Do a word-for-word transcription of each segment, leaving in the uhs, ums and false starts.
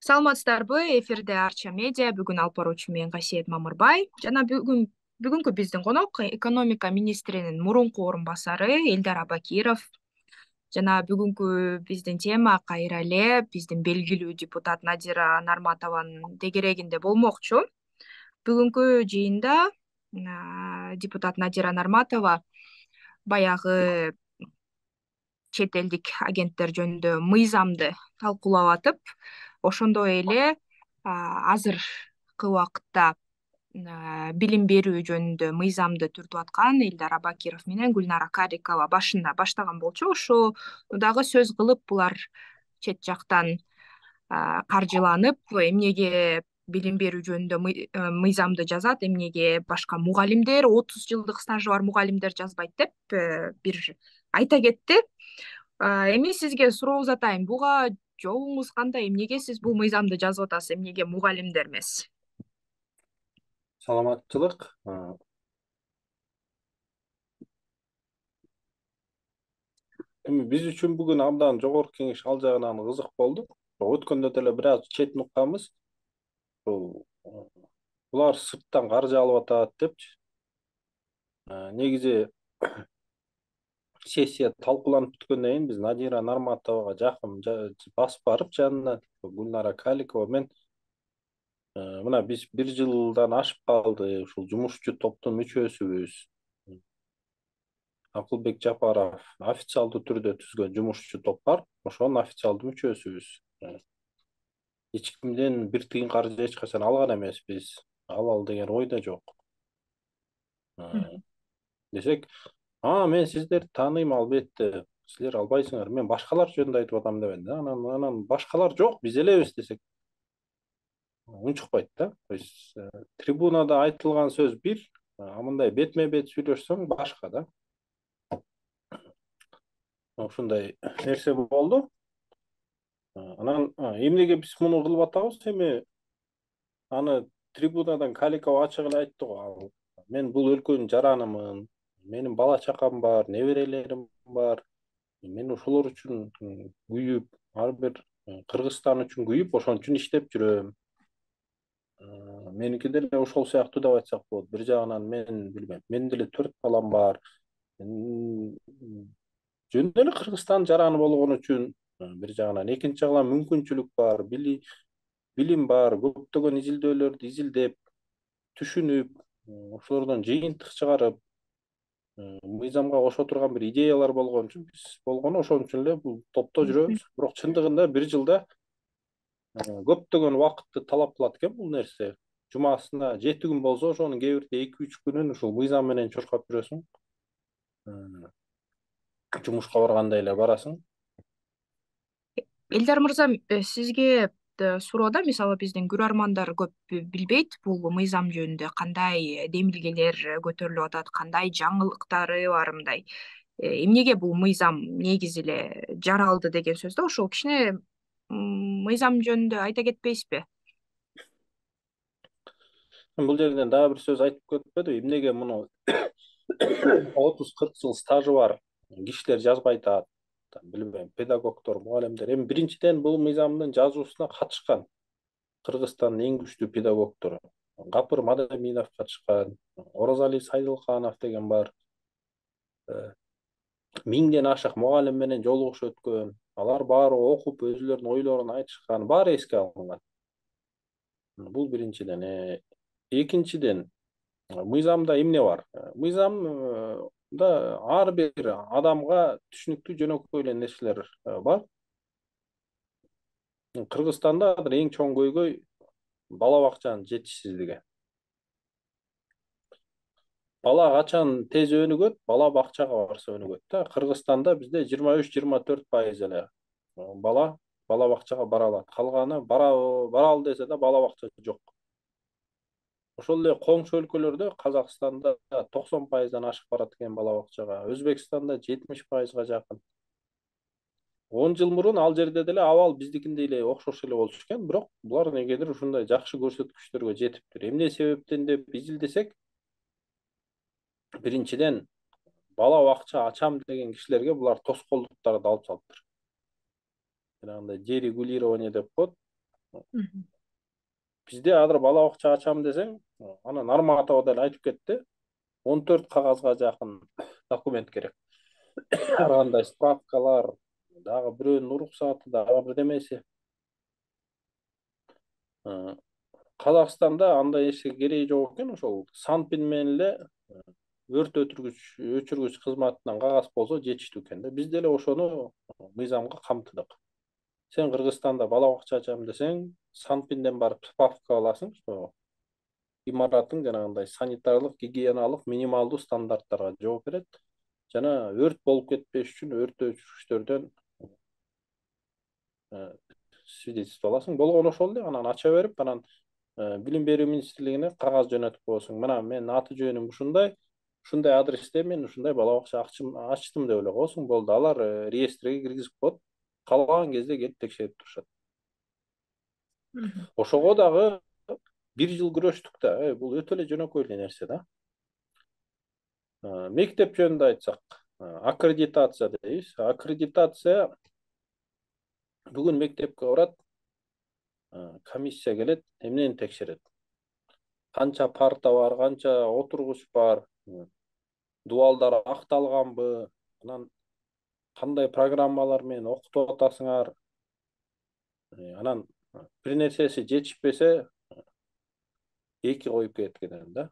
Саламатсыздарбы? Эфирде Арча медиа. Бүгүн алып баруучу мен Касиет Мамырбай. Жана бүгүн бүгүнкү биздин конок экономика министринин мурунку орун басары Элдар Абакиров. Жана бүгүнкү биздин тема кайра эле биздин белгилүү депутат Надира Нарматованын дегерегинде болмокчу. Бүгүнкү жыйында депутат Надира Нарматова баягы чет элдик агенттер жөнүндө мыйзамды талкуулап атып, ошондой эле азыркы убакытта билим берүү жөнүндө мыйзамды түртүп аткан Элдар Абакиров менен Гүлнара Карикова башында баштаган болчу. Ошо дагы сөз кылып, булар чет жактан каржыланып, эмнеге билим берүү жөнүндө мыйзамды жазат, эмнеге башка мугалимдер, отуз жылдык стажы бар мугалимдер жазбайт деп бир айта кетти. Эми сизге суроо узатайын. Буга жообуңуз кандай? Эмнеге сиз бул мыйзамды жазып атасыз? Эмнеге мугалимдер эмес? Саламатчылык. Эми биз үчүн бүгүн абдан жогорку кеңеш ал жагынан кызык болду. Өткөндө деле бир аз четин укканбыз. Булар сырттан каржы алып атат депчи. Негизи сессия талкууланып бүткөндөн кийин биз Надира Нарматовага жакын басып барып, жанына Гүлнара Карикова мен мына биз бир жылдан ашып калды, ушул жумушчу топтун мүчөсүбүз. Акылбек Жапаров официалдуу түрдө түзгөн жумушчу топ бар. Ошонун официалдуу мүчөсүбүз. Эч кимден бир тыйын каржы эч качан алган эмеспиз. Алалы деген ой да жок. Десек, а мен сиздерди тааныйм албетте. Силер албайсыңар. Мен башкалар жөнүндө айтып атам дебен да. Анан анан башкалар жок, биз элебиз десек унчукпайт да. То есть трибунада айтылган сөз бир, а мындай бетме-бет сүйлөшсөң башка да. Ушундай нерсе болду. Анан эмнеге биз муну кылып атабыз? Эми аны трибунадан Каликова ачык эле айтты го. Мен бул өлкөнүн жаранымын. Менин бала чакам бар, неберелерим бар. Мен ошолор үчүн күйүп, ар бир Кыргызстан үчүн күйүп, ошон үчүн иштеп жүрөм. Меники деле ошол сыяктуу деп айтсак болот. Бир жагынан мен билбейм, менин деле төрт балам бар. Жөн эле Кыргызстан жараны болгон үчүн бир жагынан, экинчи жагынан мүмкүнчүлүк бар, билим бар, көптөгөн изилдөөлөрдү изилдеп, түшүнүп, ошолордон жыйынтык чыгарып, мыйзамга кошо турган бир идеялар болгон үчүн биз болгону ошон үчүн эле бул топто жүрөбүз. Бирок чындыгында бир жылда көптөгөн убакытты талап кылат экен бул нерсе. Жумасына жети күн болсо, ошонун кээ бирде эки үч күнүн ушул мыйзам менен чуркап жүрөсүң. Жумушка баргандай эле барасың. Элдар мырза, сизге суроода, мисалы биздин көрөрмандар көп билбейт бул мыйзам жөнүндө кандай демилгелер көтөрүлүп атат, кандай жаңылыктары бар мындай. Эмнеге бул мыйзам негизи эле жаралды деген сөз да, ошол кичине мыйзам жөнүндө айта кетпейсизби? Бул жерден дагы бир сөз айтып кетпедиби? Эмнеге муну отуз кырк жыл стажы бар кишилер жазбай атат? Билбейм, педагогдор, мугалимдер. Эми биринчиден бул мыйзамдын жазуусуна катышкан Кыргызстандын эң күчтүү педагогдору. Гапыр Мадаминов катышкан, Оразали Сайдылканов деген бар. Миңден ашык мугалим менен жолугуш өткөн. Алар баары окуп, өзүлөрүнүн ойлорун айтышкан, баары эске алынган. Бул биринчиден. Экинчиден, мыйзамда эмне бар? Мыйзамда ар бир адамга түшүнүктүү жөнөкөй эле нерселер бар. Кыргызстанда азыр эң чоң көйгөй бала бакчанын жетишсиздиги. Бала качан тез өнүгөт? Бала бакчага барса өнүгөт да. Кыргызстанда бизде жыйырма үч жыйырма төрт пайыз эле бала бала бакчага бара алат. Калганы баралы десе да бала бакча жок. Ошол эле коңшу өлкөлөрдө, Казакстанда токсон пайыздан ашык барат экен бала бакчага. Өзбекстанда жетимиш пайызга жакын. он жыл мурун ал жерде деле абал биздикиндей эле окшош эле болчу экен, бирок булар негедир ушундай жакшы көрсөткүчтөргө жетиптир. Эмне себептен деп изилдесек, биринчиден бала бакча ачам деген кишилерге булар тоскоолдуктарды алып салыптыр. Жанагындай дерегулирование деп коет. Мгм. Бизде азыр бала бакча ачам десең, анан Нарматова деле айтып кетти. он төрт кагазга жакын документ керек. Ар кандай справкалар, дагы бирөөнүн уруксаты, дагы бирдемеси. Э, Казакстанда андай эчке кереги жок экен, ошол Санпин менен эле өрт өчүргүч өчүргүч кызматынан кагаз болсо жетиштүү экен да. Биз деле ошону мыйзамга камтыдык. Сен Кыргызстанда бала бакча ачам десең, Санпинден барып справка аласың, что имараттың жанагындай санитарлык, гигиеналык минималдуу стандарттарга жооп берет. Жана өрт болуп кетпеш үчүн өрт өчүргүчтөрдөн свидетельство аласың. Болгону ошол эле, анан ача берип, анан билим берүү министрлигине кагаз жөнөтүп коесуң. Мына менин аты жөнүм ушундай, ушундай адресте мен ушундай бала бакча ачтым деп эле коесуң. Болду, алар реестрге киргизип коет. Каалаган кезде келип текшерип турушат. Мгм. Ошого дагы бир жыл күрөштүк да. Бул өтө эле жөнөкөй эле нерсе да. Мектеп жөнүндө айтсак, аккредитация дейбиз. Аккредитация бүгүн мектепке барат, комиссия келет, эмнени текшерет? Канча парта бар, канча отургуч бар, дуалдар акталганбы, анан кандай программалар менен окутуп атасыңар. Анан бир нерсеси жетишпесе, эки коюп кетет экен да.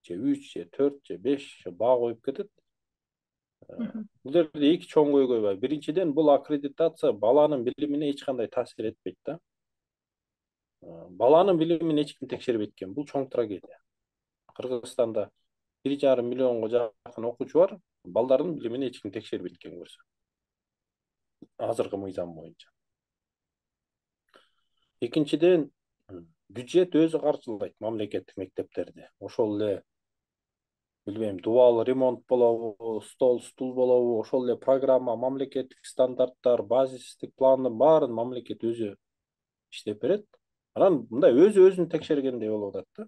Же үч, же төрт, же беш баа коюп кетет. Мгм. Бул жерде эки чоң көйгөй бар. Биринчиден, бул аккредитация баланын билимине эч кандай таасир этпейт да. Баланын билимин эч ким текшербейт экен. Бул чоң трагедия. Кыргызстанда бир жарым миллионго жакын окуучу бар. Балдардын билимин эч ким текшербейт экен көрсө. Азыркы мыйзам боюнча. Экинчиден, бюджет өзү каржылайт мамлекеттик мектептерди. Ошол эле билбейм, дубал ремонт болобу, стол, стул болобу, ошол эле программа, мамлекеттик стандарттар, базистик пландын баарын мамлекет өзү иштеп берет. Анан мындай өзү өзүн текшергендей болуп атат да.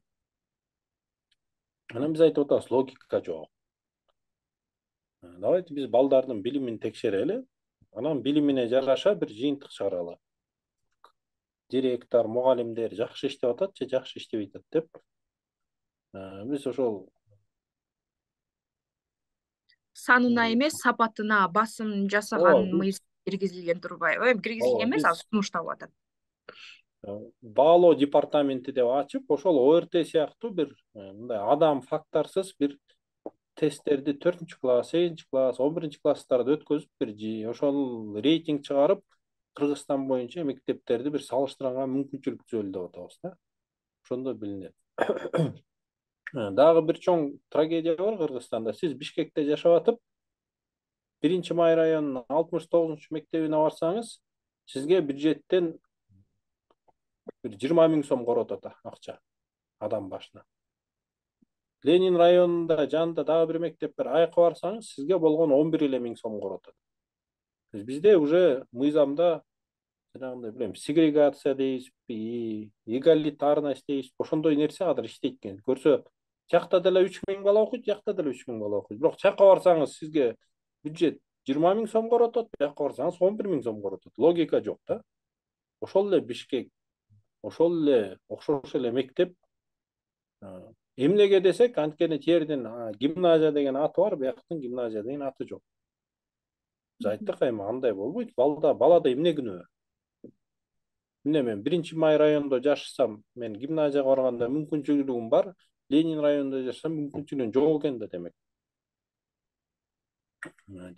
Анан биз айтып атабыз, логика жок. Давайте биз балдардын билимин текшерели, анан билимине жараша бир жыйынтык чыгаралы. Директор, мугалимдер жакшы иштеп атат же жакшы иштебей атат деп. Биз ошол Санына эмес, сапатына басым жасаган ооба, мыйзам киргизилген турбайбы? Эми киргизилген эмес, биз азыр сунушталып атат. баалоо департаменти деп ачып, ошол О Р Т сыяктуу бир мындай адам факторсуз бир тесттерди төртүнчү класс, сегизинчи класс, он биринчи класстарда өткөзүп, бир ошол рейтинг чыгарып, Кыргызстан боюнча мектептерди бир салыштырганга мүмкүнчүлүк түзөлү деп атабыз да. Ошондо билинет. Дагы бир чоң трагедия бар Кыргызстанда. Сиз Бишкекте жашап атып, биринчи май районунун алтымыш тогузунчу мектебине барсаңыз, сизге бюджеттен бир жыйырма миң сом коротот акча адам башына. Ленин районунда жанында дагы бир мектеп бар. Аяка барсаңыз, сизге болгон он бир эле миң сом коротот. Бизде уже мыйзамда жанагындай билем, сегрегация дейбизби, эгалитарность дейбизби, ошондой нерсе азыр иштейт экен. Көрсө, жакта деле үч миң бала окуйт, жакта деле үч миң бала окуйт. Бирок жака барсаңыз, сизге бюджет жыйырма миң сом коротот, бияка барсаңыз он бир миң сом коротот. Логика жок да. Ошол эле Бишкек, ошол эле окшош эле мектеп. Эмнеге десек, анткени тердин гимназия деген аты бар, бияктын гимназия деген аты жок. Биз айттык, эми андай болбойт. Балда балада эмне күнөө? Эмне мен биринчи май районунда жашасам, мен гимназияга барганда мүмкүнчүлүгүм бар, Ленин районунда жашасам мүмкүнчүлүгүм жок экен да демек.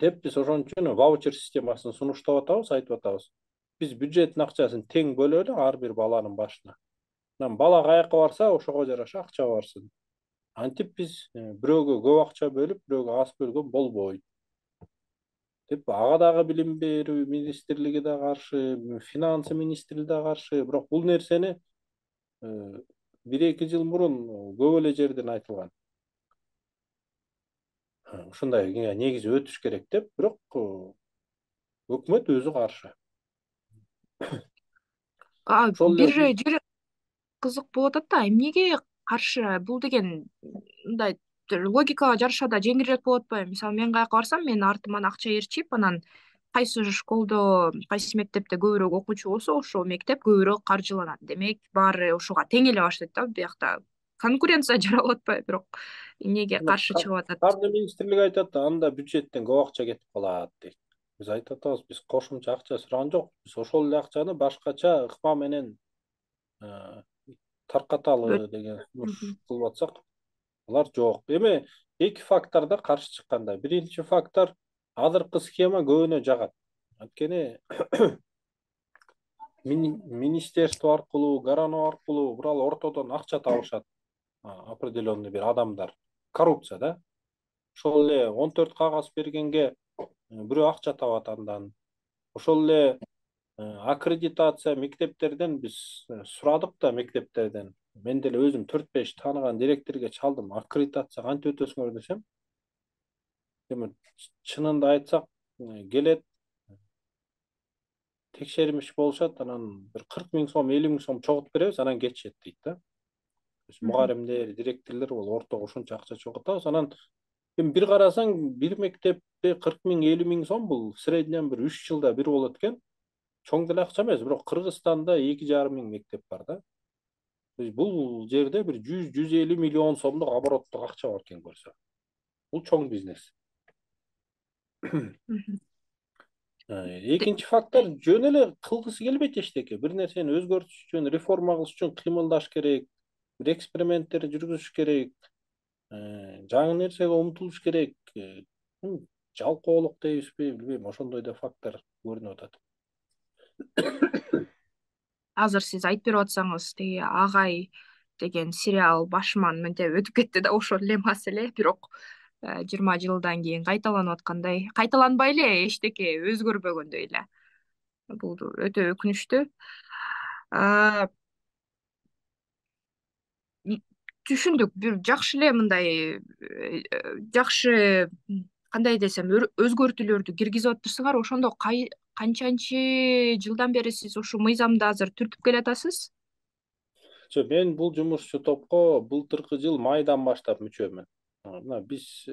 Деп биз ошон үчүн ваучер системасын сунуштап атабыз, айтып атабыз. Биз бюджеттин акчасын тең бөлөлү ар бир баланын башына. Анан бала каяка барса, ошого жараша акча барсын. Антип биз бирөөгө көп акча бөлүп, бирөөгө аз бөлгөн болбойт. Деп ага дагы билим берүү министрлиги да каршы, финансы министри да каршы. Бирок бул нерсени бир эки жыл мурун көп эле жерден айтылган. Ушундай негизи өтүш керек деп, бирок өкмөт өзү каршы. Ошол Бир эле жери кызык болуп атат да, эмнеге каршы? Бул деген мындай логикага жараша да жеңилирээк болуп атпайбы? Мисалы, мен каяка барсам, менин артыман акча ээрчип, анан кайсы школдо, кайсы мектепте көбүрөөк окуучу болсо, ошол мектеп көбүрөөк каржыланат. Демек баары ошого тең эле баштайт да. Биякта конкуренция жаралып атпайбы, бирок эмнеге каршы чыгып атат? Каржы министрлиги айтат, анда бюджеттен көп акча кетип калат дейт. Биз айтып атабыз, биз кошумча акча сураган жокпуз. Биз ошол эле акчаны башкача ыкма менен таркаталы деген сунуш кылып атсак, алар жок. Эми эки фактор да каршы чыкканда. Биринчи фактор, азыркы схема көбүнө жагат. Анткени министерство аркылуу, горано аркылуу бурал ортодон акча табышат определенный бир адамдар. Коррупция да. Ошол эле он төрт кагаз бергенге бирөө акча табат андан. Ошол эле аккредитация мектептерден биз сурадык да, мектептерден. Мен деле өзүм төрт беш тааныган директорго чалдым. Аккредитация кантип өтөсүңөр десем, эми чынында айтсак, келет, текшермиш болушат, анан бир кырк миң сом, элүү миң сом чогултуп беребиз, анан кетишет дейт да. Мугаримдер, директорлор бол ортого ушунча акча чогултабыз. Анан эми бир карасаң, бир мектепте кырк миң, элүү миң сом бул в среднем бир үч жылда бир болот экен. Чоң деле акча эмес, бирок Кыргызстанда эки жарым миң мектеп бар да. Бул жерде бир жүз жүз элүү миллион сомдук обороттук акча бар экен көрсө. Бул чоң бизнес. Экинчи фактор, жөн эле кылгысы келбейт эчтеке. Бир нерсени өзгөртүш үчүн, реформа кылыш үчүн кыймылдаш керек, бир эксперименттер жүргүзүш керек, жаңы нерсеге умтулуш керек. Жалкоолук дейбизби, билбейм, ошондой да фактор көрүнүп атат. Азыр сиз айтып берип атсаңыз, тиги Агай деген сериал башыман мынтип өтүп кетти да, ошол эле маселе, бирок жыйырма жылдан кийин кайталанып аткандай, кайталанбай эле эчтеке өзгөрбөгөндөй эле. Бул өтө өкүнүчтүү. Түшүндүк, бир жакшы эле мындай жакшы, кандай десем, өзгөртүүлөрдү киргизип атырсыңар. Ошондо канчанчы жылдан бери сиз ушул мыйзамды азыр түртүп келатасыз? Жок, мен бул жумушчу топко былтыркы жыл майдан баштап мүчөмүн. Мына биз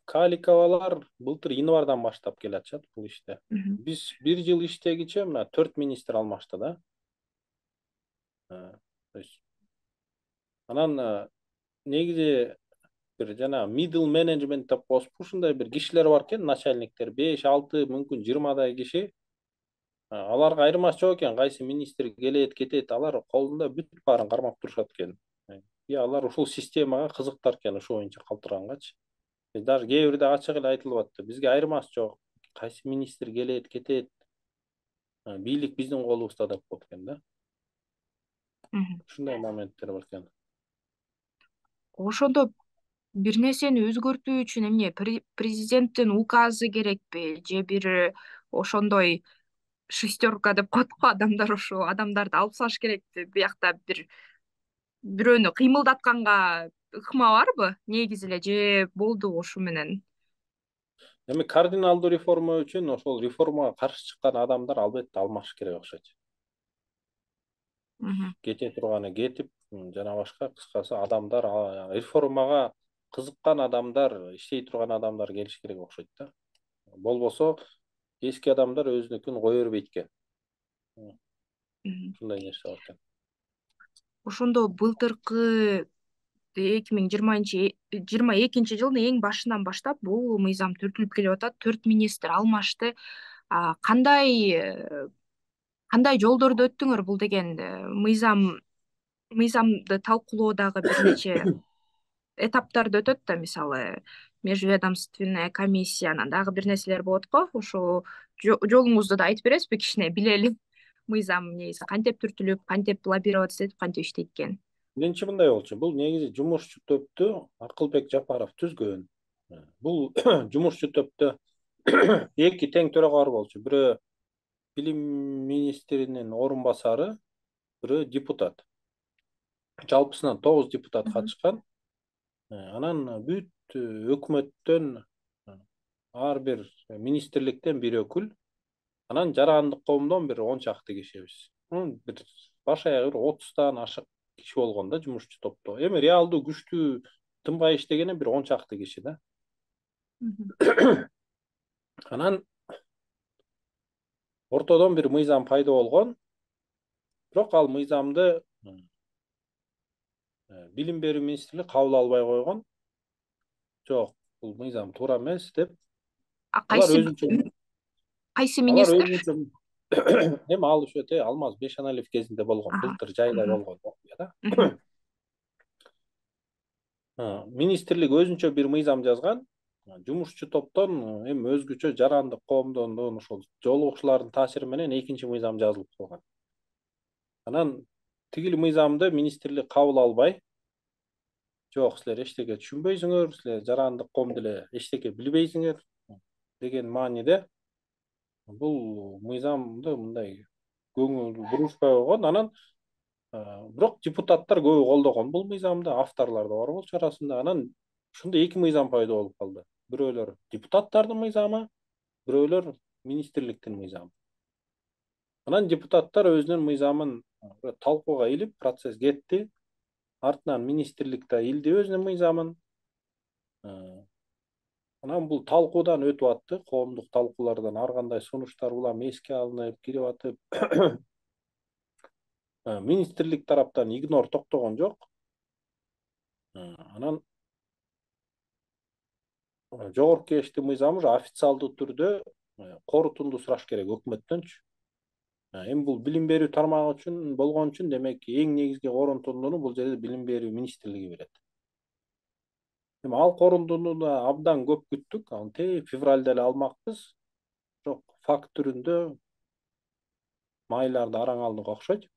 Каликовалар былтыр январдан баштап келатышат бул иште. Биз бир жыл иштегиче мына төрт министр алмашты да. Анан негизи бир жана middle management деп коесузбу, ушундай бир кишилер бар экен, начальниктер, беш, алты, мүмкүн жыйырмадай киши. Аларга айырмасы жок экен, кайсы министр келет, кетет, алар колунда бүт баарын кармап турушат экен. И алар ушул системага кызыктар экен, ошо боюнча калтыргангачы. Даже кээ бирде ачык эле айтылып атты. Бизге айырмасы жок. Кайсы министр келет, кетет. Бийлик биздин колубузда деп коет экен да. Ушундай моменттер бар экен. Ошондо бир нерсени өзгөртүү үчүн эмне, президенттин указы керекпи, же бир ошондой шестерка деп коет го адамдар, ошо адамдарды алып салыш керекпи? Биякта бир бирөөнү кыймылдатканга ыкма барбы негизи эле, же болду ушу менен? Эми кардиналдуу реформа үчүн ошол реформага каршы чыккан адамдар албетте алмаш керек окшойт. Кете турганы кетип, жана башка, кыскасы адамдар, реформага кызыккан адамдар, иштей турган адамдар келиш керек окшойт да. Болбосо эски адамдар өзүнүкүн кое бербейт экен. Ушундай нерсе бар экен. Ошондо былтыркы эки миң жыйырма экинчи жылдын эң башынан баштап бул мыйзам түртүлүп келип атат. төрт министр алмашты. Кандай кандай жолдорду өттүңөр бул деген мыйзам мыйзамды талкуулоодагы бир нече этаптарды өтөт да, мисалы межведомственная комиссия, анан дагы бир нерселер болот го. Ошо жолуңузду да айтып бересизби, кичине билели? Мыйзам негизи кантип түртүлүп, кантип лоббироваться этип, кантип иштейт экен? Биринчи мындай болчу. Бул негизи жумушчу топту Акылбек Жапаров түзгөн. Бул жумушчу топту эки тең төрагар болчу. Бирөө билим министринин орун басары, бирөө депутат. Жалпысынан тогуз депутат катышкан. Анан бүт өкмөттөн, ар бир министрликтен бир өкүл, анан жарандык коомдон бир он чакты кишибиз. Бир баш аягы бир отуздан ашык киши болгон да жумушчу топто. Эми реалдуу күчтүү тынбай иштегени бир он чакты киши да. Анан ортодон бир мыйзам пайда болгон. Бирок ал мыйзамды билим берүү министрлиги кабыл албай койгон. Жок, бул мыйзам туура эмес деп. Алар Кайсы өзүнчө кайсы алар министр? өзүнчө эми ал ошо Алмаз Бейшеналиев кезинде болгон, былтыр жайда болгон окуя да. Министрлик өзүнчө бир мыйзам жазган. Жумушчу топтон эми өзгөчө жарандык коомдон ошол жолугушуулардын таасири менен экинчи мыйзам жазылып калган. Анан тигил мыйзамды министрлик кабыл албай, жок силер эчтеке түшүнбөйсүңөр, силер жарандык коом деле эчтеке билбейсиңер деген мааниде бул мыйзамды мындай көңүл бурушпай койгон. Анан бирок депутаттар көбү колдогон бул мыйзамды, авторлор да бар болчу арасында. Анан ушунда эки мыйзам пайда болуп калды. Бирөөлөр депутаттардын мыйзамы, бирөөлөр министрликтин мыйзамы. Анан депутаттар өзүнүн мыйзамын талкууга илип, процесс кетти. Артынан министрлик да илди өзүнүн мыйзамын. Анан бул талкуудан өтүп атты, коомдук талкуулардан ар кандай сунуштар улам эске алынып кирип атып. Министрлик тараптан игнор токтогон жок. Анан жогорку кеңештин мыйзамы уже официалдуу түрдө корутунду сураш керек өкмөттөнчү. Эми бул билим берүү тармагы үчүн болгон үчүн демек эң негизги корутундуну бул жерде билим берүү министрлиги берет. Эми ал корутундуну да абдан көп күттүк. Аны тээ февралда эле алмакпыз. Бирок факт түрүндө майларды араң алдык окшойт.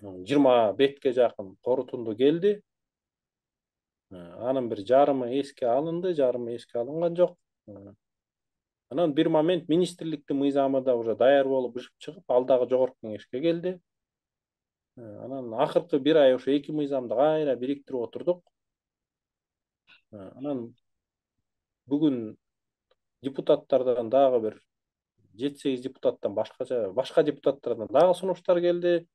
жыйырма бетке жакын корутунду келди. Анын бир жарымы эске алынды, жарымы эске алынган жок. Анан бир момент министрликтин мыйзамы да уже даяр болуп ышып чыгып, ал дагы жогорку кеңешке келди. Анан акыркы бир ай ошо эки мыйзамды кайра бириктирип отурдук. Анан бүгүн депутаттардан дагы бир жети сегиз депутаттан башкача башка депутаттардан дагы сунуштар келди.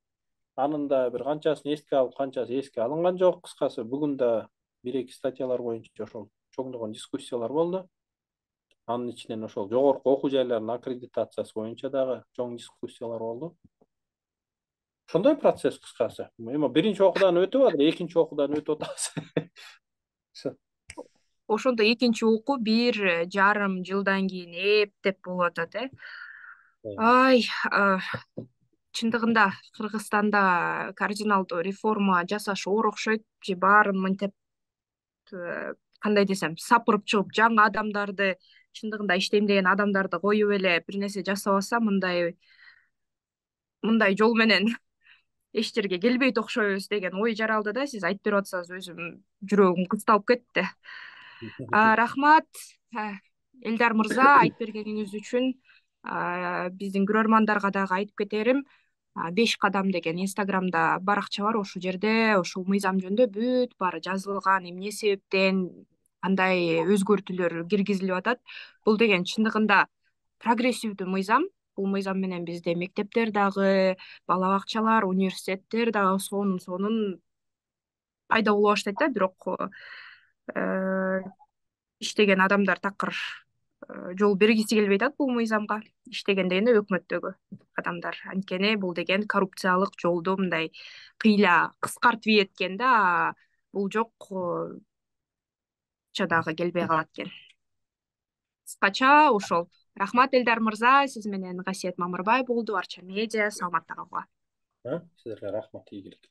Анын да бир канчасын эске алып, канчасы эске алынган жок. Кыскасы бүгүн да бир эки статьялар боюнча ошол чоңдогон дискуссиялар болду. Анын ичинен ошол жогорку окуу жайларынын аккредитациясы боюнча дагы чоң дискуссиялар болду. Ошондой процесс кыскасы. Эми биринчи окуудан өтүп атыр, экинчи окуудан өтүп атабыз. Ошондо экинчи окуу бир жарым жылдан кийин эптеп болуп атат, э. Ай, чындыгында Кыргызстанда кардиналдуу реформа жасаш оор окшойт, же баарын мынтип кандай десем, сапырып чыгып жаңы адамдарды, чындыгында иштейм деген адамдарды коюп эле бир нерсе жасабаса, мындай мындай жол менен эч жерге келбейт окшойбуз деген ой жаралды да. Сиз айтып берип атсаңыз өзүм жүрөгүм кысталып кетти. Рахмат Элдар мырза айтып бергениңиз үчүн. Биздин көрөрмандарга дагы айтып кетерим, беш кадам деген инстаграмда баракча бар. Ошол жерде ушул мыйзам жөнүндө бүт баары жазылган, эмне себептен кандай өзгөртүүлөр киргизилип атат. Бул деген чындыгында прогрессивдүү мыйзам. Бул мыйзам менен бизде мектептер дагы, бала бакчалар, университеттер дагы сонун сонун пайда боло баштайт да. Бирок иштеген адамдар такыр жол бергиси келбей атат бул мыйзамга. Иштеген дегенде өкмөттөгү адамдар. Анткени бул деген коррупциялык жолду мындай кыйла кыскартып ийет экен да. Бул жок дагы келбей калат экен. Кыскача ошол. Рахмат Элдар мырза, сиз менен Касиет Мамырбай болду, Арча медиа. Саламатта калгыла. Силерге рахмат, ийгилик.